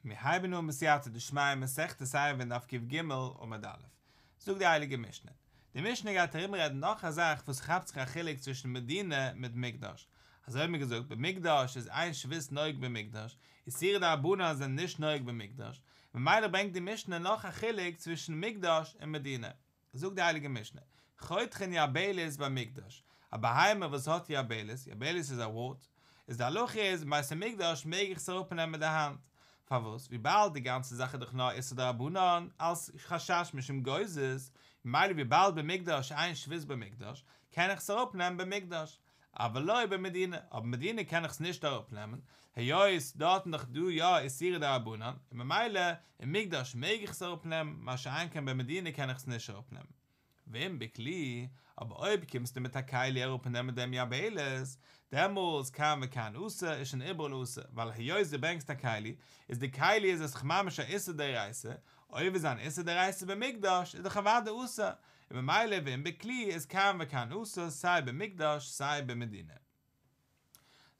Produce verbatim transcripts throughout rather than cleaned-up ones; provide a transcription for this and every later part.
מיר הייבן אן בסייעתא דשמיא מסכת עירובין דף קג עמוד א'. זאגט די הייליגע משנה. די משנה גייט ארומרעדן נאך א זאך וואס כאפט זיך א חילוק צווישן מדינה מיט מקדש. אזוי האבן מיר געזאגט, במקדש איז אין שבות נוהג במקדש, איסורי דרבנן זענען נישט נוהג במקדש, ממילא ברענגט די משנה נאך א חילוק צווישן מקדש און מדינה. זאגט די הייליגע משנה, חותכין יבלת במקדש, א בהמה וואס האט יבלת, יבלת איז א ווארט, איז די הלכה איז אין בית המקדש מעג איך עס אראפנעמען מיט די האנט, פארוואס? וויבאלד די גאנצע זאך איז דאך נאר איסור דרבנן אלס חשש משום גוזז, ממילא וויבאלד במקדש אין שבות במקדש, קען איך עס אראפנעמען במקדש, אבל לא במדינה, אבער מדינה קען איך עס נישט אראפנעמען, היות דארטן דאך דא יא איסורי דרבנן, און ממילא אין מקדש מעג איך עס אראפנעמען, מה שאין כן במדינה קען איך עס נישט אראפנעמען. ואם בכלי, אבער אויב קומסטו מיט א כלי אראפנעמען דעם יבלת, דעמאלס כאן וכאן אסור, איז שוין איבעראל אסור, ווייל היות דו ברענגסט א כלי, איז די כלי איז עס דאך ממש א איסור דאורייתא, אויב איז אן איסור דאורייתא במקדש, איז דאך אוודאי אסור, און ממילא ואם בכלי איז כאן וכאן אסור סיי במקדש סיי במדינה.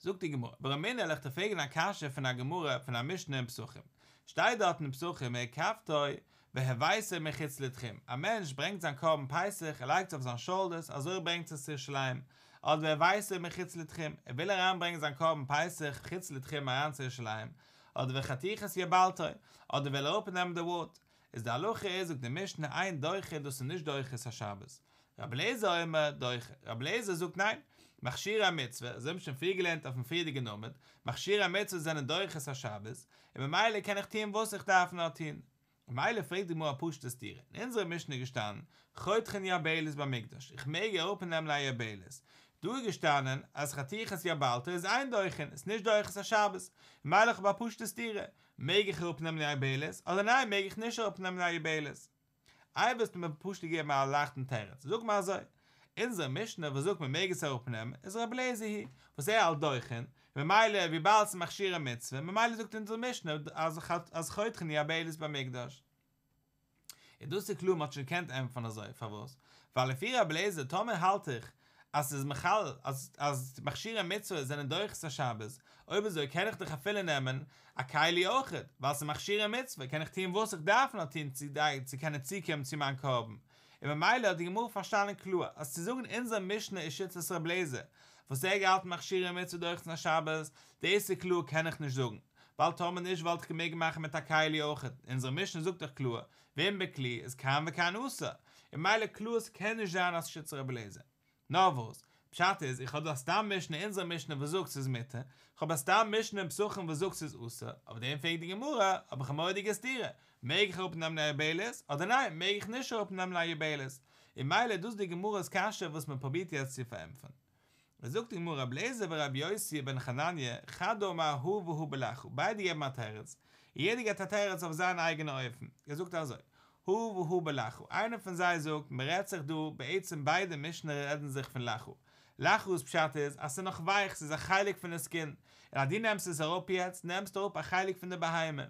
זאגט די גמרא, ורמינהו וועל איך דיר פרעגן א קשיא פון א גמרא פון א משנה אין פסחים, שטייט דארט אין פסחים והקרבתו והבאתו מחוץ לתחום, א מענטש ברענגט זיין קרבן פסח ער לייגט עס אויף זיין שאלדערס אזוי ער ברענגט עס צו ירושלים, אדער והבאתו מחוץ לתחום, ער וויל אריין ברענגען זיין קרבן פסח חוץ לתחום אריין צו ירושלים, אדער וחתיכת יבלתו, אדער וויל ער אראפנעמען די ווארט, איז די הלכה איז זאגט די משנה אין דוחה דאס איז נישט דוחה את השבת. רבי אליעזר אומר דוחה, רבי אליעזר זאגט ניין, מכשירי המצוה, אזוי האבן מיר שוין פריער געלערנט אויפן פריערדיגן עמוד, מכשירי המצוה זענען דוחה את השבת, און ממילא קען איך טון וואס איך דארף נאר טון. ממילא פרעגט די גמרא א פשוט'ע סתירה, אין אונזערע משנה איז געשטאנען, חותכין יבלת במקדש, איך מעג אראפנעמען א יבלת, דא איז געשטאנען אז חתיכת יבלתו איז אין דוחין, איז נישט דוחה את השבת, ממילא איך האב א פשוט'ע סתירה, מעג איך אראפנעמען א יבלת, אדער ניין מעג איך נישט אראפנעמען א יבלת? איי וועסטו מיר פשוט געבן א לייכטן תירוץ, זאג מיר אזוי, אונזער משנה וואס זאגט מען מעג עס אראפנעמען איז רבי אליעזר היא, וואס ער האלט דוחין, ממילא וויבאלד ס'איז מכשירי מצוה, ממילא זאגט אונזער משנה אז אז חותכין יבלת במקדש. און דאס איז קלאר מ'האט שוין געקענט ענטפערן אזוי, פארוואס? ווייל לפי רבי אליעזר טאמער האלט איך אז ס'איז מחלל אז אז מכשירי מצוה זענען דוחה את השבת, אויב אזוי קען איך דאך אפילו נעמען א כלי אויכעט, ווייל ס'איז מכשירי מצוה קען איך טון וואס איך דארף נאר טון צו צו קענען צוקומען צו מיין קרבן. און ממילא האט די גמרא פארשטאנען קלאר אז צו זאגן אונזער משנה איז שיטת רבי אליעזר וואס ער האט געהאלטן מכשירי מצוה דוחה את השבת, דאס איז קלאר קען איך נישט זאגן, ווייל טאמער נישט וואלט איך געמעגט מאכן מיט א כלי אויכעט, אונזער משנה זאגט דאך קלאר, ואם בכלי איז כאן וכאן אסור, און ממילא קלאר ס'קען נישט זיין אז שיטת רבי אליעזר. נאר וואס, פשט איז, איך האב דא א סתם משנה אין אונזער משנה וואס זאגט ס'איז מותר, איך האב א סתם משנה אין פסחים וואס זאגט ס'איז אסור, אויף דעם פרעגט די גמרא, האב איך א מורא'דיגע סתירה, מעג איך אראפנעמען א יבלת, אדער ניין מעג איך נישט אראפנעמען א יבלת? און ממילא איז דאס די גמרא'ס קשיא וואס מען פרובירט יעצט צו פארענטפערן. זאגט די גמרא רבי אליעזר ורבי יוסי בן חנניה חד אמר הא והא בלחה, ביידע געבן א תירוץ, און יעדער געבט א תירוץ אויף זיין אייגענע אופן, ער זאגט אזוי, הא והא בלחה, איינער פון זיי זאגט מען רעדט זיך דא, בעצם ביידע משנה רעדן זיך פון לחה, לחה'ס פשט איז אז ס'איז נאך ווייך, ס'איז א חלק פון די סקין, און אז דו נעמסט עס אראפ יעצט, נעמסטו אראפ א חלק פון די בהמה.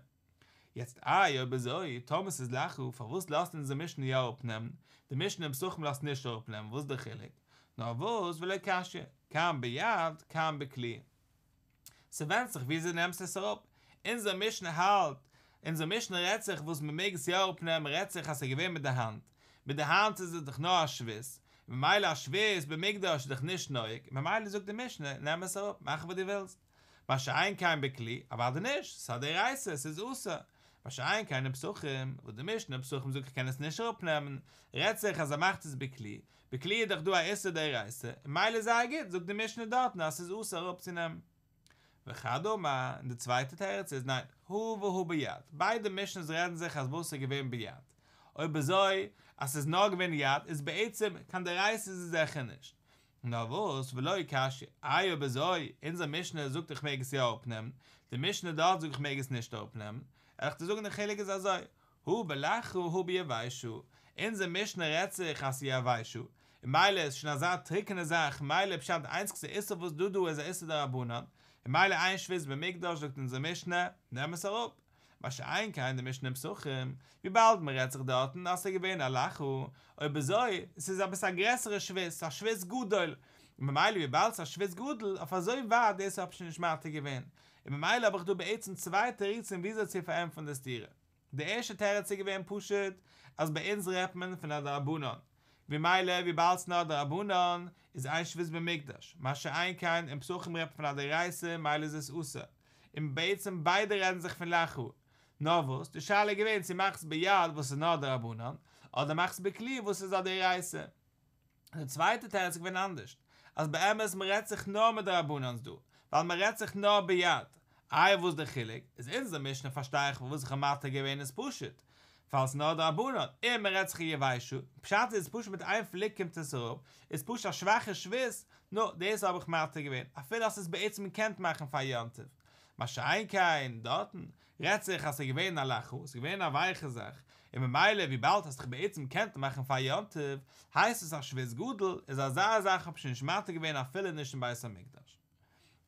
יעצט איי אויב אזוי, טאמער ס'איז לחה, פארוואס לאזט אונזער משנה יא אראפנעמען, די משנה אין פסחים לאזט נישט אראפנעמען, וואס איז די חילוק? נאר וואס ולא קשיא, כאן ביד כאן בכלי. ס'ווענדט זיך וויאזוי דו נעמסט עס אראפ. אונזער משנה האלט, אונזער משנה רעדט זיך וואס מ'מעג עס יא אראפנעמען רעדט זיך אז ס'איז געווען מיט די האנט. מיט די האנט איז עס דאך נאר א שבות, ממילא א שבות במקדש איז דאך נישט נוהג, ממילא זאגט די משנה נעם עס אראפ, מאך וואס דו ווילסט. מה שאין כן בכלי, אוודאי נישט, ס'איז א דאורייתא, ס'איז אסור. מה שאין כן אין פסחים, וואס די משנה אין פסחים זאגט איך קען עס נישט אראפנעמען, רעדט זיך אז ער מאכט עס בכלי, בכלי איז דאך דא א איסור דאורייתא, און ממילא זייער גוט, זאגט די משנה דארטן אז ס'איז אסור אראפצונעמען. וחד אמר, און די צווייטע תירוץ איז ניין, הא והא ביד, ביידע משנה'ס רעדן זיך אז וואס איז געווען ביד. אויב אזוי אז ס'איז נאר געווען יד איז בעצם קיין דאורייתא איז עס זיכער נישט. נאר וואס, ולא קשיא, איי אויב אזוי, אונזער משנה זאגט איך מעג עס יא אראפנעמען, די משנה דארט זאגט איך מעג עס נישט אראפנעמען, וועל איך דיר זאגן די חילוק איז אזוי, הא בלחה הא ביבשה, אונזער משנה רעדט זיך אז ס'איז יבשה, און ממילא איז שוין אזא טרוקענע זאך, ממילא פשט די איינציגסטע איסור וואס דא דא איז א איסור דרבנן, און ממילא אין שבות במקדש זאגט אונזער משנה, נעם עס אראפ. מה שאין כן די משנה אין פסחים, וויבאלד מען רעדט זיך דארטן אז ס'איז געווען א לחה, אויב אזוי, ס'איז עפעס א גרעסערע שבות, ס'איז א שבות גדול, און ממילא וויבאלד ס'איז א שבות גדול, אויף אזוי ווייט דאס האב איך שוין נישט מתיר געווען, און ממילא האב איך דא בעצם צוויי תירוצים וויאזוי צו פארענטפערן די סתירה. די ערשטע תירוץ איז געווען פשוט אז ביי אונז רעדט מען פון א דרבנן, ממילא וויבאלד ס'נאר דרבנן איז אין שבות במקדש, מה שאין כן אין פסחים רעדט מען פון א דאורייתא מילא איז עס אסור, און בעצם ביידע רעדן זיך פון לחה. נאר וואס, די שאלה איז געווען צו מאכסט ביד וואס איז נאר דרבנן, אדער מאכסט בכלי וואס איז א דאורייתא. די צווייטע תירוץ איז געווען אנדערשט, אז באמת מ'רעדט זיך נאר מדרבנן'ס דא, ווייל מ'רעדט זיך נאר ביד. איי וואס די חילוק? איז אונזער משנה פארשטיי איך פארוואס איך האב מתיר געווען איז פשוט, ווייל ס'נאר דרבנן, און מ'רעדט זיך יבשה, פשט איז פשוט מיט איין פליק קומט עס אראפ, איז פשוט א שוואכע שבות, נו, דאס האב איך מתיר געווען, אפילו אז ס'איז בעצם געקענט מאכן פאר יום טוב. מה שאין כן דארטן, רעדט זיך אז ס'איז געווען א לחה, ס'איז געווען א ווייכע זאך, און ממילא וויבאלד האסט דאך בעצם געקענט מאכן פאר יום טוב, הייסט עס א שבות גדול, איז אזא זאך האב איך שוין נישט מתיר געווען אפילו נישט אין בית המקדש.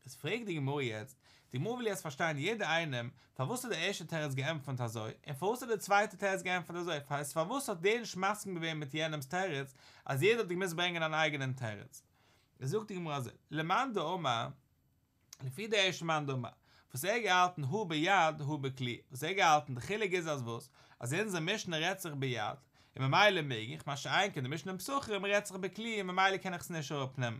איז פרעגט די גמרא יעצט, די גמרא וויל יעצט פארשטיין יעדער איינעם, פארוואס האט דער ערשטער תירוץ געענטפערט אזוי, און פארוואס האט דער צווייטער תירוץ געענטפערט אזוי, הייסט פארוואס האט דער נישט מסכים געווען מיט יענעמ'ס תירוץ, אז יעדער האט געמוזט ברענגען אן אייגענעם תירוץ. איז זאגט די גמרא אזוי, למאן דאמר, לפי די ערשטע מאן דאמר, וואס ער האט געהאלטן הא ביד הא בכלי, וואס ער האט געהאלטן די חילוק איז אז וואס, אז אונזער משנה רעדט זיך ביד, און ממילא מעג איך, מה שאין כן די משנה אין פסחים רעדט זיך בכלי און ממילא קען איך עס נישט אראפנעמען.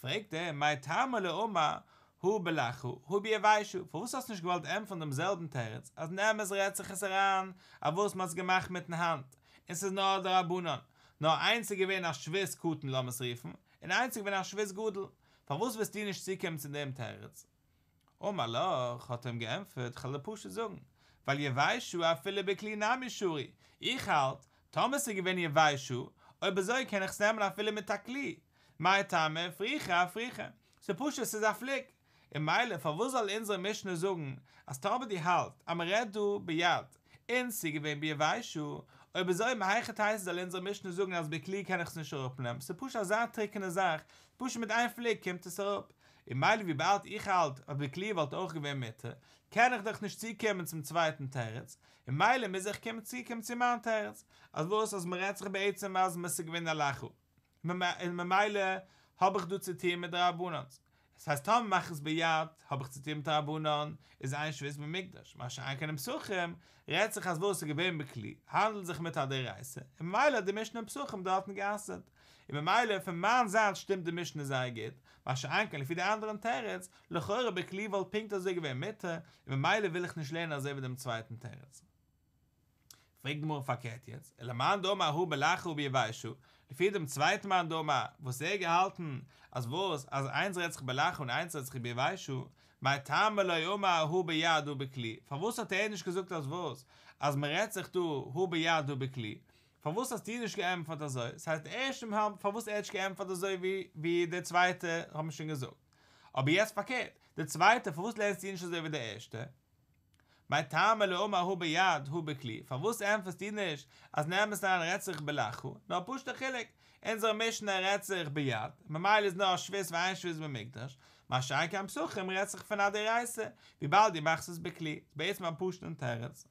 פרעגט ער, מאי טעמא לא אמר הא בלחה הא ביבשה, פארוואס האסטו נישט געוואלט ענטפערן דעם זעלבן תירוץ, אז אין אמת רעדט זיך עס אריין אויף וואס מ'האט עס געמאכט מיטן האנט, און ס'איז נאר דרבנן, נאר איינס איז געווען א שבות קטן לאמיר עס רופן, און איינס איז געווען א שבות גדול, פארוואס ווילסטו נישט צוקומען צו דעם תירוץ? אמר לך, האט ער אים געענטפערט, כ'וועל דיר פשוט זאגן, ווייל יבשה אפילו בכלי נמי שרי, איך האלט, טאמער ס'איז געווען יבשה, אויב אזוי קען איך עס נעמען אפילו מיט א כלי, מאי טעמא אפרוחי אפרוחי, ס'איז פשוט ס'איז א פליק, און מילא פארוואס זאל אונזערע משנה זאגן אז טאמער דו האלטסט אז מ'רעדט דא ביד און ס'איז געווען ביבשה, אויב אזוי מהיכי תיתי זאל אונזערע משנה זאגן אז בכלי קען איך עס נישט אראפנעמען, ס'איז פשוט אזא טרוקענע זאך, פשוט מיט איין פליק קומט עס אראפ, און מילא וויבאלד איך האלט אז בכלי וואלט אויך געווען מותר, קען איך דאך נישט צוקומען צום צווייטן תירוץ, און מילא מוז איך קומען צוקומען צו מיין תירוץ, אז וואס אז מ'רעדט זיך בעצם אז ס'איז געווען א לחה. און ממילא האב איך דא צו טוהן מיט דרבנן'ס. עס הייסט טאמער מאך איך עס ביד האב איך צו טוהן מיט דרבנן, איז אין שבות במקדש, מה שאין כן אין פסחים, רעדט זיך אז וואס איז געווען בכלי, האנדלט זיך מיט א דאורייתא, און ממילא האט די משנה אין פסחים דארטן גע'אסר'ט. און ממילא פון מיין זייט שטימט די משנה זייער גוט, מה שאין כן לפי די אנדערן תירוץ, לכאורה בכלי וואלט פונקט אזוי געווען מותר, און ממילא וויל איך נישט לערנען אזוי ווי דעם צווייטן תירוץ. פרעגט די גמרא פארקערט יעצט, ולמאן דאמר הא בלחה הא ביבשה, לפי דעם צווייטן מאן דאמר וואס ער האט געהאלטן אז וואס אז איינס רעדט זיך בלחה און איינס רעדט זיך ביבשה, מאי טעמא לא אמר הא ביד הא בכלי, פארוואס האט ער נישט געזאגט אז וואס אז מען רעדט זיך דא הא ביד הא בכלי, פארוואס האסטו נישט געענטפערט אזוי, ס'הייסט די ערשטע מאל פארוואס ער האט נישט געענטפערט אזוי ווי ווי די צווייטע האט מען שוין געזאגט, אבער יעצט פארקערט, די צווייטע פארוואס לערנסטו נישט אזוי ווי די ערשטע? מאי טעמא לא אמר הא ביד הא בכלי, פארוואס ענטפערסטו נישט אז אין אמת אריין רעדט זיך בלחה, נאר פשוט'ע חילוק, אונזערע משנה רעדט זיך ביד, ממילא איז נאר שבות ואין שבות במקדש, מה שאין כן פסחים רעדט זיך פון א דאורייתא, וויבאלד דו מאכסט עס בכלי, איז בעצם א פשוט'ן תירוץ.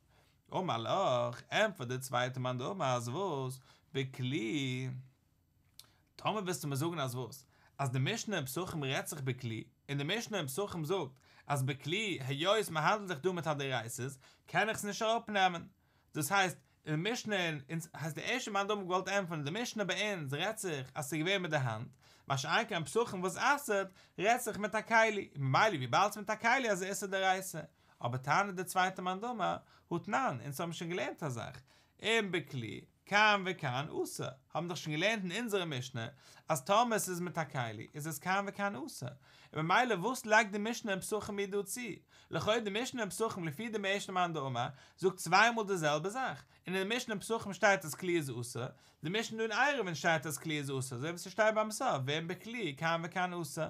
אמר לך, ענטפערט דער צווייטער מאן דאמר אז וואס? בכלי. טאמער ווילסטו מיר זאגן אז וואס? אז די משנה אין פסחים רעדט זיך בכלי, און די משנה אין פסחים זאגט אז בכלי, היות מען האנדלט זיך דא מיט א דאורייתא'ס, קען איך עס נישט אראפנעמען. דאס הייסט, אין די משנה אין אונז, הייסט די ערשטע מאן דאמר געוואלט ענטפערן, די משנה ביי אונז רעדט זיך אז ס'איז געווען מיט די האנט, מה שאין כן פסחים וואס אסר'ט, רעדט זיך מיט א כלי, און ממילא וויבאלד ס'איז מיט א כלי איז איסור דאורייתא. אבער טענה'ט די צווייטע מאן דאמר, הא תנן, אונז האבן שוין געלערנט א זאך, אם בכלי, כאן וכאן אסור, האבן דאך שוין געלערנט אין אונזערע משנה אז טאמער עס איז מיט א כלי איז עס כאן וכאן אסור, און ממילא וואס לייגט די משנה אין פסחים מיר דא צו? לכאו' די משנה אין פסחים לפי דעם ערשטן מאן דאמר זאגט צוויי מאל די זעלבע זאך, און אין די משנה אין פסחים שטייט אז כלי איז אסור, די משנה דא אין עירובין שטייט אז כלי איז אסור אזוי ווי ס'שטייט ביים סוף ואם בכלי כאן וכאן אסור,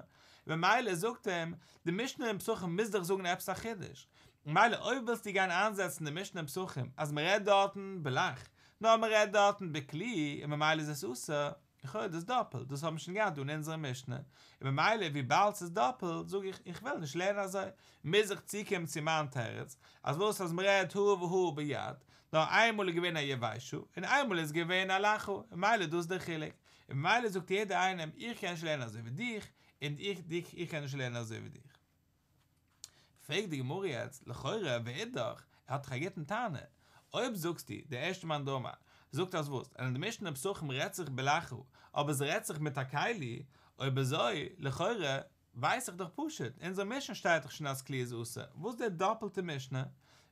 ממילא זאגט אים, די משנה אין פסחים מוז דאך זאגן עפעס א חידוש, ממילא אויב ווילסטו גיין איינזעצן די משנה אין פסחים אז מ'רעדט דארטן בלח, נאר מ'רעדט דארטן בכלי און ממילא איז עס אסור, לכאורה דאס דאפלט, דאס האבן מיר שוין געהאט דא אין אונזערע משנה, און ממילא וויבאלד ס'איז דאפלט זאג איך איך וויל נישט לערנען אזוי, מוז איך צוקומען צו מיין תירוץ, אז וואס אז מ'רעדט הא והא ביד, נאר איינמאל איז געווען א יבשה און איינמאל איז געווען א לחה, און ממילא דאס איז דער חילוק, און ממילא זאגט יעדער איינעם איך קען נישט לערנען אזוי ווי דיך, און איך דיך איך קען נישט לערנען אזוי ווי דיך. פרעגט די גמרא יעצט, לכאורה ואידך, ער האט דאך א גוטן טענה. אויב זאגסטו, דער ערשטער מאן דאמר, זאגט אז וואס, אין די משנה פסחים רעדט זיך בלחה, אבער עס רעדט זיך מיט א כלי, אויב אזוי, לכאורה, ווייס איך דאך פשוט, אין אונזער משנה שטייט דאך שוין אז כלי איז אסור. וואס איז דער דאפלטע משנה?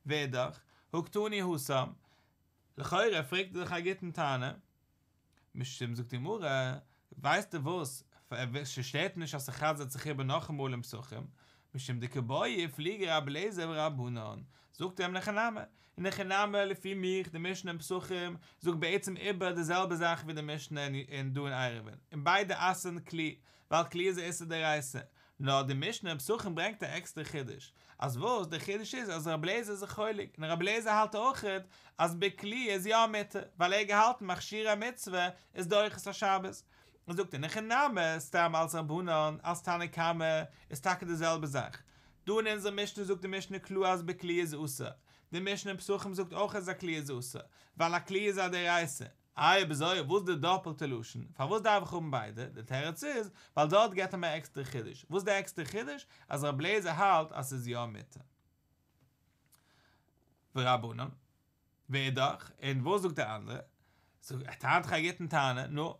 ואידך, הא קתני התם. לכאורה פרעגט ער דאך א גוטן טענה. משום זאגט די גמרא, ווייסטו וואס, ס'שטערט נישט אז ס'חזר'ט זיך איבער נאכאמאל אין פסחים, משום דקא בעי איפלוגי רבי אליעזר ורבנן, זאגט ער אים אין הכי נמי, אין הכי נמי לפי מיך די משנה אין פסחים זאגט בעצם איבער די זעלבע זאך ווי די משנה אין דא אין עירובין, און ביידע אסר'ן כלי, ווייל כלי איז א איסור דאורייתא, נאר די משנה אין פסחים ברענגט א עקסטערע חידוש, אז וואס די חידוש איז אז רבי אליעזר איז זיך חולק, און רבי אליעזר האלט אויכעט אז בכלי איז יא מותר, ווייל ער האט געהאלטן מכשירי מצוה איז דוחה את השבת. און זאגט אין הכי נמי, סתם אלס רבנן, אלס תנא קמא, איז טאקע די זעלבע זאך. דא אין אונזער משנה זאגט די משנה קלאר אז בכלי איז אסור. די משנה אין פסחים זאגט אויך אז א כלי איז אסור, ווייל א כלי איז א דאורייתא. איי אויב אזוי וואס איז די דאפלטע לשון? פארוואס דארף איך האבן ביידע? די תירוץ איז, ווייל דארט געבט ער מיר א עקסטערע חידוש. וואס איז די עקסטערע חידוש? אז רבי אליעזר האלט אז ס'איז יא מותר. ורבנן. ואידך, און וואס זאגט דער אנדערע? זאגט, ער טענה'ט דאך א גוטן טענה, נו,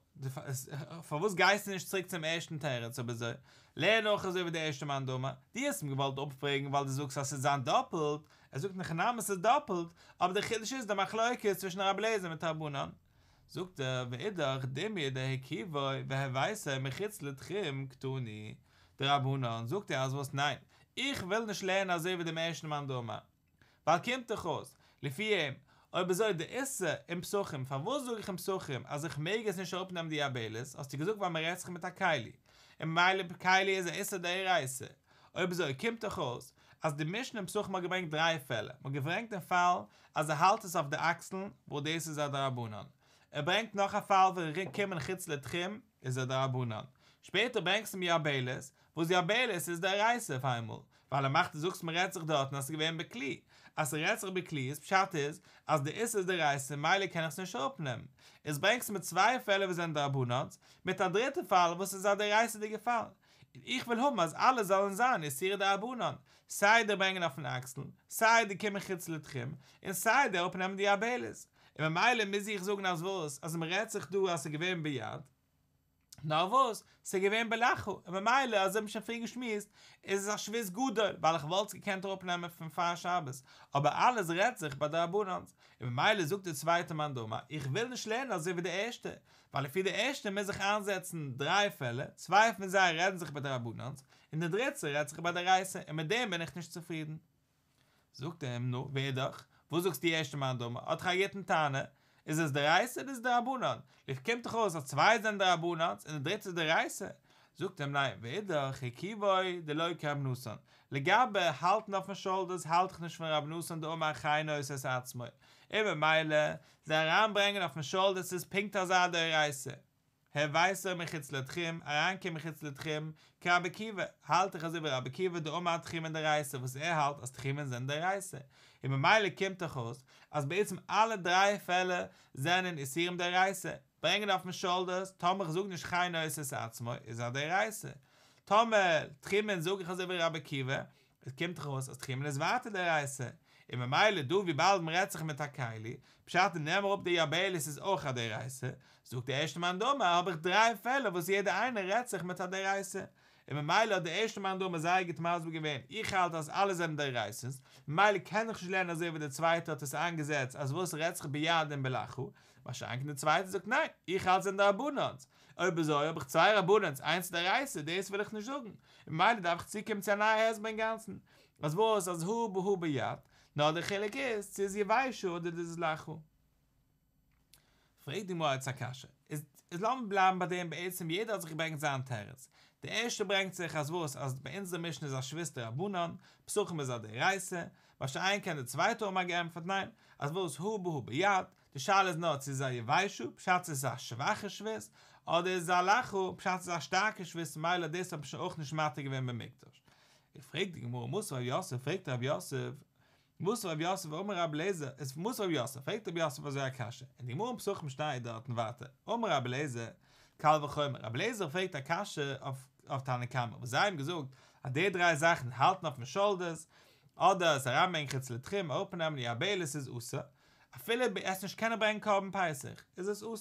פארוואס גייסטו נישט צוריק צום ערשטן תירוץ אויב אזוי? לערן אויך אזוי ווי דער ערשטער מאן דאמר, דו האסט אים געוואלט אפפרעגן ווייל דו זאגסט אז ס'איז זיין דאפלט, ער זאגט אין הכי נמי ס'איז דאפלט, אבער דער חידוש איז די מחלוקת צווישן רבי אליעזר מיט רבנן. זאגט ער, ואידך דומיא דהרכיבו והבאתו מחוץ לתחום קתני דרבנן, זאגט ער אז וואס ניין, איך וויל נישט לערנען אזוי ווי דעם ערשטן מאן דאמר, ווייל קומט דאך אויס, לפי אים, אויב אזוי די איסור אין פסחים, פארוואס זאג איך אין פסחים אז איך מעג עס נישט אראפנעמען די יבלת, האסטו געזאגט ווייל מען רעדט זיך מיט א כלי, און ממילא כלי איז א איסור דאורייתא, אויב אזוי קומט דאך אויס אז די משנה אין פסחים האט געברענגט דריי פעלער, מען האט געברענגט דעם פאל אז ער האלט עס אויף די אקסלן, וואס דאס איז א דרבנן, ער ברענגט נאך א פאל ווען קומען חוץ לתחום איז א דרבנן, שפעטער ברענגסטו מיר יבלת, וואס יבלת איז דאורייתא אויף איינמאל, ווייל ער מאכט דו זאגסט מ'רעדט זיך דארטן אז ס'איז געווען בכלי, אז ס'רעדט זיך בכלי איז פשט איז אז די איסור איז דאורייתא מילא קען איך עס נישט אראפנעמען, איז ברענגסטו מיר צוויי פעלער וואס זענען דרבנן'ס, מיט א דריטע פאל וואס איז א דאורייתא'דיגע פאל, און איך וויל האבן אז אלע זאלן זיין איסורי דרבנן, סיי די ברענגען אויפן אקסל, סיי די קומען חוץ לתחום, און סיי די אראפנעמען די יבלת, און ממילא מוז איך זאגן אז וואס, אז מ'רעדט זיך דא אז ס'איז געווען ביד. נאר וואס, ס'איז געווען בלחה, און ממילא, אזוי האט מען שוין פריער געשמועסט, איז עס א שבות גדול, ווייל איך וואלט עס געקענט אראפנעמען פון פאר שבת, אבער אלעס רעדט זיך ביי דרבנן'ס, און ממילא זאגט דער צווייטער מאן דאמר, איך וויל נישט לערנען אזוי ווי דער ערשטער, ווייל לפי דער ערשטער מוז איך איינזעצן דריי פעלער, צוויי פון זיי רעדן זיך ביי דרבנן'ס, און דער דריטער רעדט זיך ביי דאורייתא, און מיט דעם בין איך נישט צופרידן. זאגט ער אים, נו, ואידך, וואס זאגסטו ערשטע מאן דאמר, האט דאך א גוטן טענה, איז עס דאורייתא אדער איז עס דרבנן? לפי קומט דאך אויס אז צוויי זענען דרבנן'ס און די דריטע איז דאורייתא. זאגט ער אים, ניין, ואידך, הרכיבו דלא כרבי נתן, לגבי האלטן אויפן שאלדערס האלט איך נישט פון רבי נתן דאמר חי נושא את עצמו, און ממילא זיי אריינברענגען אויפן שאלדערס איז פונקט אזא דאורייתא. הבאתו מחוץ לתחום, אריינקומען מחוץ לתחום, כרבי עקיבא, האלט איך אזוי ווי רבי עקיבא דאמר תחומין דאורייתא וואס ער האלט אז תחומין זענען דאורייתא, און ממילא קומט דאך אויס אז בעצם אלע דריי פעלער זענען איסורים דאורייתא, ברענגען אויפן שאלדערס, טאמער איך זאג נישט חי נושא את עצמו איז א דאורייתא, טאמער תחומין זאג איך אזוי ווי רבי עקיבא, עס קומט דאך אויס אז תחומין איז ווייטער דאורייתא, און ממילא דא וויבאלד מען רעדט זיך מיט א כלי, פשט און נעם אראפ די יבלת איז אויך א דאורייתא, זאגט דער ערשטער מאן דאמר האב איך דריי פעלער וואס יעדער איינער רעדט זיך מיט א דאורייתא, און ממילא האט דער ערשטער מאן דאמר זייער גוט מסביר געווען, איך האלט אז אלע זענען דאורייתא'ס, ממילא קען איך נישט לערנען אזוי ווי דער צווייטער האט עס איינגעזעצט אז וואס רעדט זיך ביד און בלחה, מה שאין כן דער צווייטער זאגט ניין, איך האלט זענען דרבנן'ס, אויב אזוי האב איך צוויי רבנן'ס איינס דאורייתא, דאס וויל איך נישט זאגן, און ממילא דארף איך צוקומען צו א נייע הסבר אינגאנצן, אז וואס אז הא בהא ביד, נאר דער חילוק איז צו איז יבשה אדער דאס איז לחה. פרעגט די גמרא יעצט א קשיא, איז איז לאמיר בלייבן ביי דעם בעצם יעדער האט זיך געברענגט זיין תירוץ, די ערשטע ברענגט זיך אז וואס אז ביי אונזער משנה איז א שבות דרבנן, פסחים איז א דאורייתא, מה שאין כן די צווייטע האבן געענטפערט ניין, אז וואס הא בהא ביד, די שאלה איז נאר צו איז א יבשה, פשט צו איז א שוואכע שבות, אדער איז א לחה, פשט איז א שטארקע שבות ממילא דאס האט מען שוין אויך נישט מתיר געווען במקדש. איז פרעגט די גמרא מתיב רב יוסף, פרעגט רב יוסף, מתיב רב יוסף אמר רבי אליעזר, איז מתיב רב יוסף, פרעגט רב יוסף אזוי א קשיא, אין די גמרא אין פסחים שטייט דארטן ווייטער, אמר רבי אליעזר, קל וחומר, רבי אליעזר פרעגט א קשיא אויף אויף תנא קמא, וואס זיי האבן געזאגט אז די דריי זאכן האלטן אויפן שאלדערס, אדער עס אריינברענגען חוץ לתחום, אראפנעמען די יבלת איז אסור, אפילו עס נישט קענען ברענגען קרבן פסח, איז עס אסור.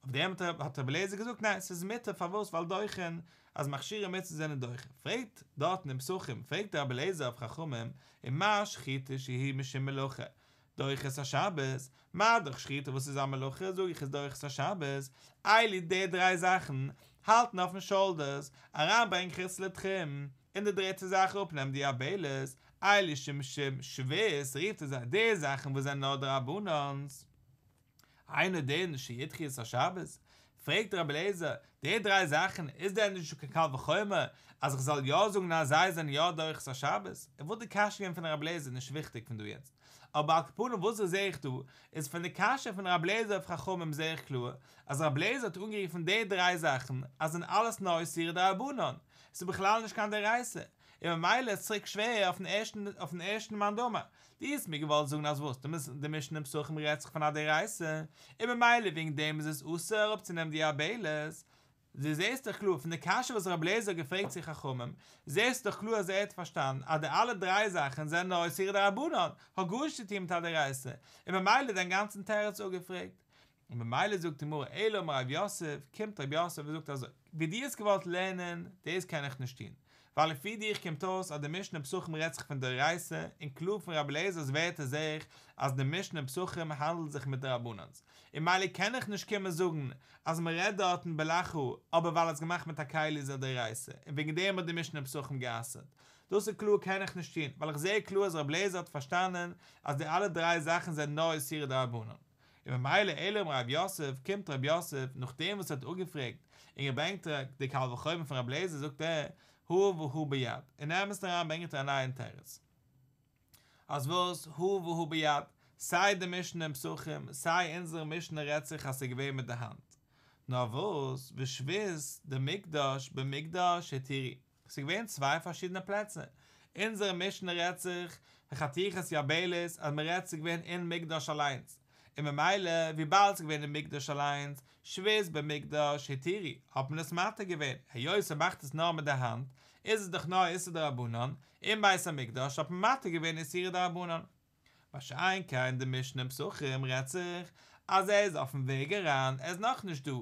אויף דעם האט רבי אליעזר געזאגט, ניין, ס'איז מותר, פארוואס? ווייל דוחין, אז מכשירי מצוה זענען דוחה. פרעגט דארטן אין פסחים, פרעגט רבי אליעזר אויף חכמים, ומה שחיטה שהיא משום מלאכה, דוחה את השבת, מה דאך שחיטה וואס איז א מלאכה, זאג איך איז דוחה את השבת, אלו די דריי זאכן, האלטן אויפן shoulders, אריינברענגען חוץ לתחום, און די דריטע זאך אראפנעמען די יבלת, אלו שמשום שבות, רופט ער זיי די זאכן וואס זענען נאר דרבנן'ס. אינו דין שידחו את השבת, פרעגט רבי אליעזר, די דריי זאכן, איז דען נישט קיין קל וחומר, אז איך זאל יא זאגן אז זיי זענען יא דוחה את השבת? וואס די קשיא פון רבי אליעזר איז נישט וויכטיג פון דא יעצט. אבער על כל פנים וואס זעה איך דא, איז פון די קשיא פון רבי אליעזר אויף חכמים זעה איך קלאר, אז רבי אליעזר האט אנגערופן די דריי זאכן, אז זענען אלעס נאר איסורי דרבנן. עס איז בכלל נישט קיין דאורייתא. און ממילא איז צוריק שווער אויפן ערשטן, אויפן ערשטן מאן דאמר. דו האסט מיר געוואלט זאגן אז וואס, די משנה אין פסחים רעדט זיך פון א דאורייתא, און ממילא וועגן דעם איז עס אסור אראפצונעמען די יבלת. דו זעסט דאך קלאר, פון די קשיא וואס רבי אליעזר האט געפרעגט צו חכמים, זעסט דאך קלאר אז ער האט פארשטאנען אז די אלע דריי זאכן זענען נאר איסורי דרבנן, האט גארנישט צו טון מיט א דאורייתא, און ממילא דיין גאנצן תירוץ אפגעפרעגט. און ממילא זאגט די גמרא, אלא אמר רב יוסף, קומט רב יוסף און זאגט אזוי, ווי דו האסט געוואלט לערנען, דאס קען איך נישט טון, ווייל לפי דיך קומט אויס אז די משנה אין פסחים רעדט זיך פון דאורייתא, און קלאר פון רבי אליעזר'ס ווערטער זעה איך אז די משנה אין פסחים האנדלט זיך מיט דרבנן'ס, און ממילא קען איך נישט קומען זאגן אז מען רעדט דארטן בלחה, אבער ווייל עס געמאכט מיט א כלי איז א דאורייתא, און וועגן דעם האט די משנה אין פסחים גע'אסר'ט. דאס איז קלאר קען איך נישט טון, ווייל איך זעה קלאר אז רבי אליעזר האט פארשטאנען אז די אלע דריי זאכן זענען נאר איסורי דרבנן. און ממילא אלא אמר רב יוסף, קומט רב יוסף, נאכדעם וואס ער האט אפגעפרעגט און געברענגט די קל וחומר פון רבי אליעזר, זאגט ער, הא והא ביד, אין אמת'ן אריין ברענגט ער א נייעם תירוץ. אז וואס, הא והא ביד, סיי די משנה אין פסחים, סיי אונזערע משנה רעדט זיך אז ס'איז געווען מיט די האנט. נאר וואס, ושבות דמקדש במקדש התירו. ס'איז געווען צוויי פארשידענע פלעצער. אונזערע משנה רעדט זיך, חתיכת יבלת, אז מען רעדט ס'איז געווען אין מקדש אליינס. און ממילא, וויבאלד ס'איז געווען אין מקדש אליינס, שבות במקדש התירו, האט מען עס מתיר געווען. היות ער מאכט עס נאר מיט די האנט, איז עס דאך נאר איסור דרבנן, אין בית המקדש האט מען מתיר געווען איסור דרבנן. מה שאין כן די משנה אין פסחים רעדט זיך אז ער איז אויפן וועג אריין, ער איז נאכנישט דא,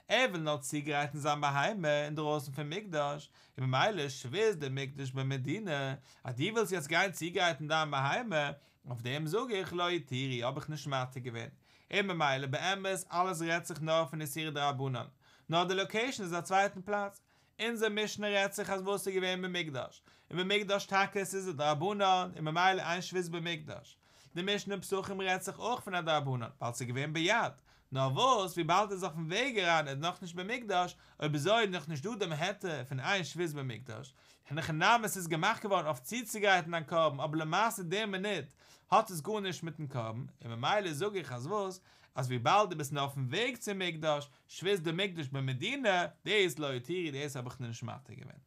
ער וויל נאר צוגרייטן זיין בהמה אינדרויסן פון מקדש, און ממילא שבות דמקדש במדינה, אז דו ווילסט יעצט גיין צוגרייטן דיין בהמה, אויף דעם זאג איך לא התירו, האב איך נישט מתיר געווען. און ממילא באמת אלעס רעדט זיך נאר פון איסור דרבנן, נאר די location איז א צווייטן פלאץ. אונזער משנה רעדט זיך אז וואס איז געווען במקדש, און במקדש טאקע עס איז א דרבנן, און ממילא אין שבות במקדש. די משנה אין פסחים רעדט זיך אויך פון א דרבנן, ווייל ס'איז געווען ביד. נאר וואס, וויבאלד ער איז אויפן וועג אריין, ער איז נאכנישט במקדש, אויב אזוי איז נאכנישט דא דעם היתר פון אין שבות במקדש. אין הכי נמי עס איז געמאכט געווארן אויף צוצוגרייטן דיין קרבן, אבער למעשה די מינוט האט עס גארנישט מיטן קרבן, און ממילא זאג איך אז וואס, אז וויבאלד דו ביסט נאר אויפן וועג צום מקדש, שבות דמקדש במדינה, דאס לא התירו, דאס האב איך נישט מתיר געווען.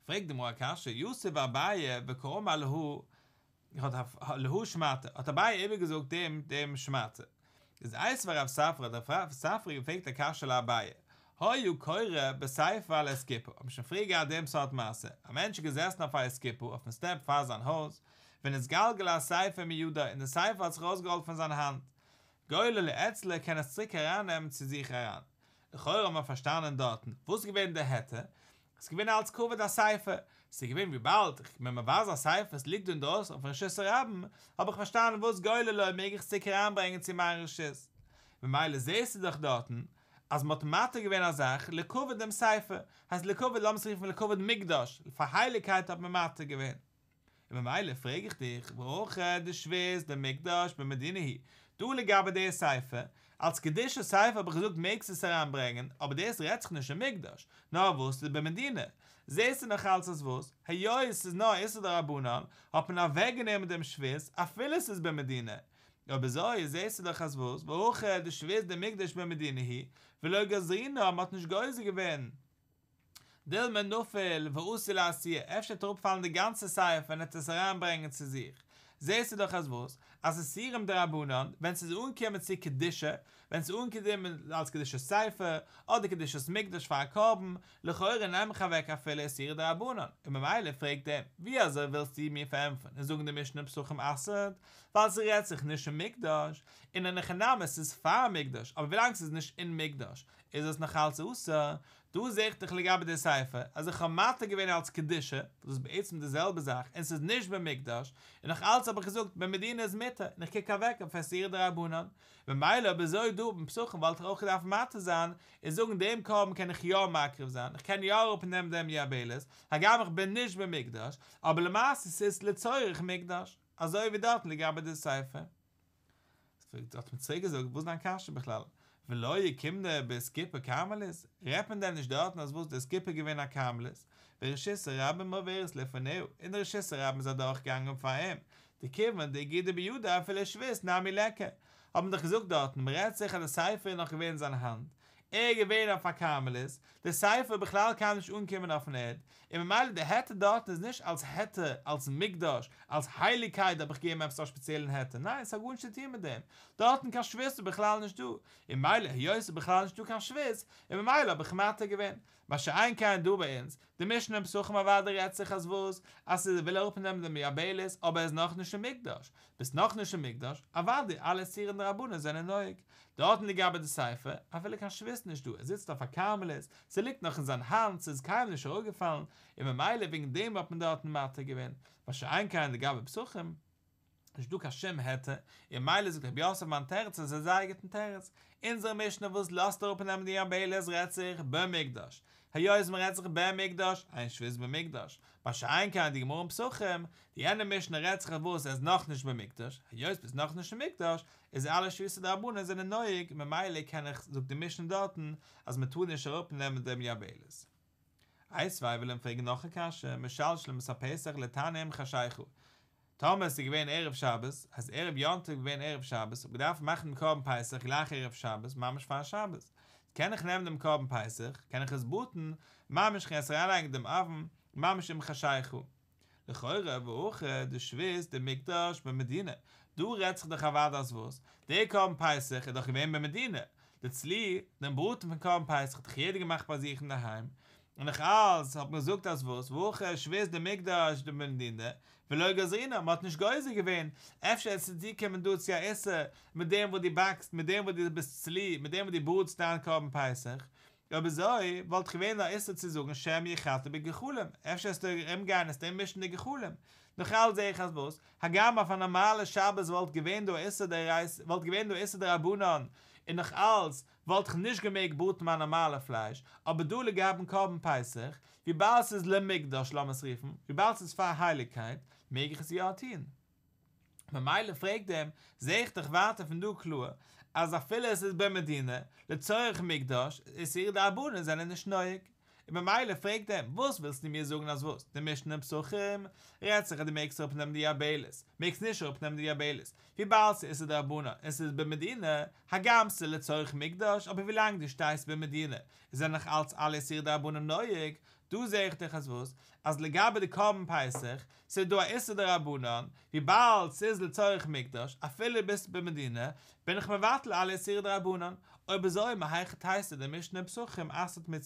פרעגט די גמרא א קשיא, יתיב אביי וקאמר להא, להא שמעתא, האט אביי איבערגעזאגט דעם דעם שמעתא. איז איתיביה רב ספרא, האט רב ספרא געפרעגט א קשיא לאביי, היה קורא בספר על אסקופה, האבן שוין פריער געהאט דעם סארט מעשה, א מענטש איז געזעסן אויף א אסקופה, אויפן step פאר זיין הויז, ונתגלגל הספר מידו, און דער ספר האט זיך ארויסגעראלט פון זיין האנט. גוללו אצלו, קען עס צוריק ארייננעמען צו זיך אריין. לכאורה האט מען פארשטאנען דארטן, וואס איז געווען דער היתר? עס איז געווען אלס כבוד הספר. עס איז געווען וויבאלד איך בין מבזה א ספר, עס ליגט דא אינדרויסן אויפן רשות הרבים, האב איך פארשטאנען וואס גוללו מעג איך צוריק אריינברענגען צו מיין רשות. ממילא זעסטו דאך דארטן אז מ'האט מתיר געווען א זאך לכבוד דעם ספר, הייסט לכבוד, לאמיר עס רופן לכבוד מקדש, פאר הייליגקייט האט מען מתיר געווען. און ממילא פרעג איך דיך, והכא דשבות דמקדש במדינה היא, דא לגבי די ספר, אלס קדושת ספר האב איך געזאגט מעגסט עס אריינברענגען, אבער דאס רעדט זיך נישט אין מקדש, נאר וואס איז במדינה. זעסטו נאך אלץ אז וואס, היות עס איז נאר איסור דרבנן, האט מען אוועקגענומען דעם שבות, אפילו עס איז במדינה. אבער אזוי זעסטו דאך אז וואס, והכא דשבות דמקדש במדינה היא, ולא גזרינן, מען האט נישט גוזר געווען. דילמא נפיל ואתי לאתויי, אפשר וועט אראפפאלן די גאנצע ספר און ער וועט עס אריינברענגען צו זיך. זעסטו דאך אז וואס? אז איסורים דרבנן, ווען ס'איז אנגעקומען צו קדושה, ווען ס'איז אנגעקומען אלס קדושת ספר, אדער קדושת מקדש פאר א קרבן, לכאורה נעם איך אוועק אפילו איסורי דרבנן, און ממילא פרעגט ער, ווי אזוי ווילסטו מיר פארענטפערן און זאגן די משנה אין פסחים אסר'ט, ווייל ס'רעדט זיך נישט אין מקדש, און אין הכי נמי ס'איז פאר מקדש, אבער ווילאנג ס'איז נישט אין מקדש, איז עס נאך אלץ אסור, דא זעה איך דאך לגבי די ספר, אז איך האב מתיר געווען אלץ קדושה, וואס איז בעצם די זעלבע זאך, און ס'איז נישט במקדש, און נאך אלץ האב איך געזאגט במדינה איז מותר, און איך קוק אוועק אויף איסורי דרבנן. ממילא אויב אזוי דא אין פסחים וואלט איך אויך געדארפט מתיר זיין, און זאגן דעם קרבן קען איך יא מקריב זיין, איך קען יא אראפנעמען דעם יבלת, הגם איך בין נישט במקדש, אבער למעשה ס'איז לצורך מקדש, אזוי ווי דארטן לגבי די ספר. האט מען צוריק געזאגט, וואס איז דיין קשיא בכלל? ולא אוקימנא באיסקופה כרמלית, רעדט מען דען נישט דארטן אז וואס די אסקופה איז געווען א כרמלית, ורשות הרבים עוברת לפניה, און די רשות הרבים איז אדורך געגאנגען פאר אים, דכיון דאגידא בידיה אפילו שבות נמי ליכא, האט מען דאך געזאגט דארטן, מען רעדט זיך אז די ספר איז נאך געווען אין זיין האנט, ער איז געווען אויף א כרמלית, די ספר איז בכלל קיינמאל נישט אנגעקומען אויפן ערד, און ממילא די היתר דארטן איז נישט אלס היתר, אלס מקדש, אלס הייליגקייט האב איך געגעבן עפעס א שפעציעלן היתר, ניין עס האט גארנישט צו טון מיט דעם, דארטן קיין שבות איז בכלל נישט דא, און ממילא היות עס איז בכלל נישט דא קיין שבות, און ממילא האב איך מתיר געווען. מה שאין כן דא ביי אונז, די משנה אין פסחים אוודאי רעדט זיך אז וואס? אז ער וויל אראפנעמען דעם יבלת אבער ער איז נאכנישט אין מקדש, ביסט נאכנישט אין מקדש, אוודאי אלע איסורים דרבנן זענען נוהג. דארטן לגבי די ספר, אפילו קיין שבות נישט דא, ער זיצט אויף א כרמלית, ס'ליגט נאך אין זיין האנט, ס'איז קיינמאל נישט אראפגעפאלן, און ממילא וועגן דעם האט מען דארטן מתיר געווען, מה שאין כן לגבי פסחים, נישט דא קיין שום היתר, און ממילא זאגט רב יוסף מיין תירוץ איז א זייער גוטן תירוץ, אונזערע משנה וואס לאזט אראפ נעמען די יבלת רעדט זיך במקדש, היות מען רעדט זיך במקדש, אין שבות במקדש, מה שאין כן די גמרא אין פסחים, די יענע משנה רעדט זיך וואס ער איז נאכנישט במקדש, היות ביסט נאכנישט אין מקדש, איז אלע שבותא דרבנן זענען נוהג, ממילא קען איך, זאגט די משנה דארטן, אז מען טאר נישט אראפ נעמען דעם יבלת. איתיביה וויל אים פרעגן נאך א קשיא, משלשלים את הפסח לתנור עם חשיכה, טאמער עס איז געווען ערב שבת, אז ערב יום טוב איז געווען ערב שבת, האב געדארפט מאכן דעם קרבן פסח גלייך ערב שבת, ממש פאר שבת, קען איך נעמען דעם קרבן פסח, קען איך עס בראטן, ממש כ'קען עס אריינלייגן אין דעם אויוון, ממש עם חשיכה. לכאורה והכא דשבות דמקדש במדינה, דא רעדט זיך דאך אוודאי אז וואס? דער קרבן פסח איז דאך געווען במדינה, די צלי, דעם בראטן פון קרבן פסח האט דאך יעדער געמאכט ביי זיך אינדערהיים, און נאך אלס האט מען געזאגט אז וואס, והכא שבות דמקדש במדינה, ולא גזרינן, מען האט נישט גוזר געווען, אפשר עס איז צוקומען דא צו א איסור, מיט דעם וואס דו באקסט, מיט דעם וואס דו ביסט צלי, מיט דעם וואס דו בראטסט דיין קרבן פסח, אויב אזוי וואלט געווען א איסור צו זאגן שמא יחתה בגחלים, אפשר עסטו ארומגיין עסטו מישן די גחלים, נאך אלס זעה איך אז וואס, הגם אויף א נארמאלע שבת וואלט געווען דא איסור דאורייתא, וואלט געווען דא איסור דרבנן, און נאך אלס וואלט איך נישט געמעגט בראטן מיין נארמאלע פלייש, אבער דא לגבי'ן קרבן פסח, וויבאלד ס'איז למקדש לאמיר עס רופן, וויבאלד ס'איז פאר הייליגקייט, מעג איך עס יא טון. ממילא פרעגט אים, זעה איך דאך ווייטער פון דא קלאר, אז אפילו עס איז במדינה, לצורך מקדש, איסורי דרבנן זענען נישט נוהג. און ממילא פרעגט אים, וואס ווילסטו מיר זאגן אז וואס? די משנה אין פסחים רעדט זיך אז דו מעגסט אראפנעמען די יבלת, מעגסט נישט אראפנעמען די יבלת, וויבאלד ס'איז איסור דרבנן און ס'איז במדינה, הגם ס'איז לצורך מקדש, אבער ווילאנג דו שטייסט במדינה, זענען נאך אלץ אלע איסורי דרבנן נוהג, דא זעה איך דאך אז וואס? אז לגבי די קרבן פסח, ס'איז דא א איסור דרבנן, וויבאלד ס'איז לצורך מקדש, אפילו ביסט במדינה, בין איך מבטל אלע איסורי דרבנן, אויב אזוי מהיכי תיתי די משנה אין פסחים אסר'ט מיר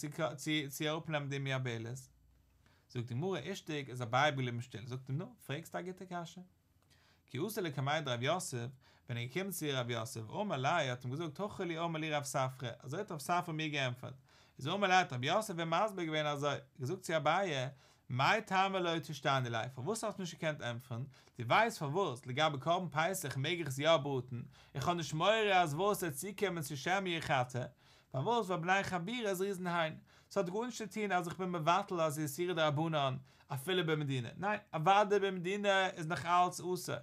צו אראפנעמען דעם יבלת. זאגט די גמרא אישתיק איז אביי געבליבן שטיל, זאגט אים נו, פרעגסט א גוטע קשיא. כי אתא לקמיה דרב יוסף, ווען ער איז געקומען צו רב יוסף, אמר ליה, האט אים געזאגט הכי לי אמר לי רב ספרא, אזוי האט רב ספרא מיר געענטפערט, איז אמר ליה האט רב יוסף אים מסביר געווען אזוי, געזאגט צו אביי, מאי טעמא לא תשתני ליה, פארוואס האסטו נישט געקענט ענטפערן, דו ווייסט פארוואס לגבי קרבן פסח מעג איך עס יא בראטן, איך האב נישט מורא אז וואס ס'וועט צוקומען צו שמא יחתה, פארוואס ווייל בני חבורה זריזין הן, ס'האט גארנישט צו טון אז איך בין מבטל אז איסורי דרבנן אפילו במדינה, ניין, אוודאי במדינה איז נאך אלץ אסור,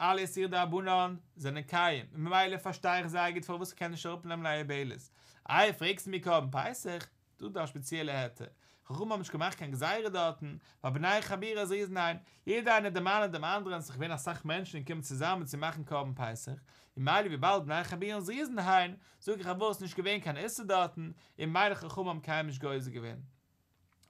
אלע איסורי דרבנן זענען קיים, און ממילא פארשטיי איך זייער גוט פארוואס איך קען נישט אראפנעמען א יבלת. איי פרעגסטו מיר קרבן פסח? דא איז דא א שפעציעלע היתר, חכמים האבן נישט געמאכט קיין גזירה דארטן, ווייל בני חבורה זריזין הן, יעדער איינער דערמאנעט דעם אנדערען, ס'איז געווען אסאך מענטשן געקומען צוזאמען צו מאכן קרבן פסח, און ממילא וויבאלד בני חבורה זריזין הן, זאג איך פארוואס נישט געווען קיין איסור דארטן, און ממילא חכמים האבן קיינמאל נישט גוזר געווען.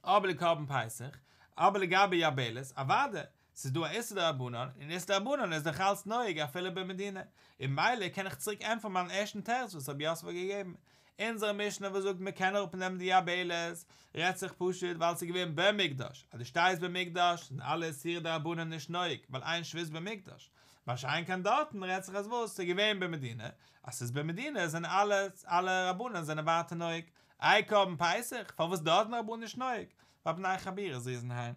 אבער לקרבן פסח, אבער לגבי יבלת, אוודאי, ס'איז דא א איסור דרבנן, און איסור דרבנן איז דאך אלץ נוהג אפילו במדינה, און ממילא קען איך צוריק ענטפערן מיין ערשטן תירוץ וואס רב יוסף האט געגעבן. אונזערע משנה וואס זאגט מען קען אראפנעמען די יבלת, רעדט זיך פשוט ווייל ס'איז געווען במקדש, אז דו שטייסט במקדש זענען אלע איסורי דרבנן נישט נוהג, ווייל אין שבות במקדש, מה שאין כן דארטן רעדט זיך אז וואס ס'איז געווען במדינה, אז ס'איז במדינה זענען אלע אלע רבנן זענען ווייטער נוהג. איי קרבן פסח, פארוואס דארטן רבנן נישט נוהג? ווייל בני חבורה זריזין הן.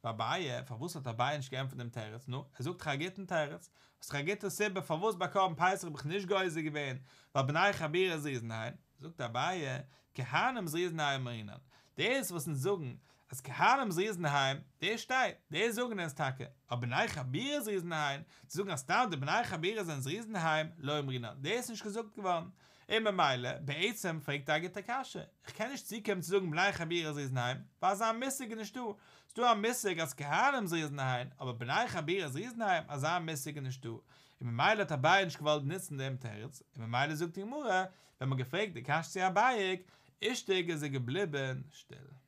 ואביי, פארוואס האט אביי נישט געענטפערט דעם תירוץ? נו, ער זאגט דאך א גוטן תירוץ, האסט דאך א גוטע סיבה פארוואס ביי קרבן פסח האב איך נישט גוזר געווען, ווייל בני חבורה זריזין הן. זאגט אביי, כהנים זריזין הן אמרינן, דאס וואס אונז זאגן אז כהנים זריזין הן, דאס שטייט, דאס זאגן אונז טאקע, אבער בני חבורה זריזין הן, צו זאגן אז סתם די בני חבורה זענען זריזין הן, לא אמרינן, דאס איז נישט געזאגט געווארן. און ממילא, בעצם פרעגט ער א גוטע קשיא, איך קען נישט צוקומען צו זאגן בני חבורה זריזין הן, ווייל אזא מושג איז נישטא, ס'דא א מושג אז כהנים זריזין הן, אבער בני חבורה זריזין הן, אזא מושג איז נישטא, און ממילא האט אביי נישט געוואלט נוצן דעם תירוץ, און ממילא זאגט די גמרא, ווען מ'האט געפרעגט די קשיא צו אביי, אישתיק איז ער געבליבן שטיל.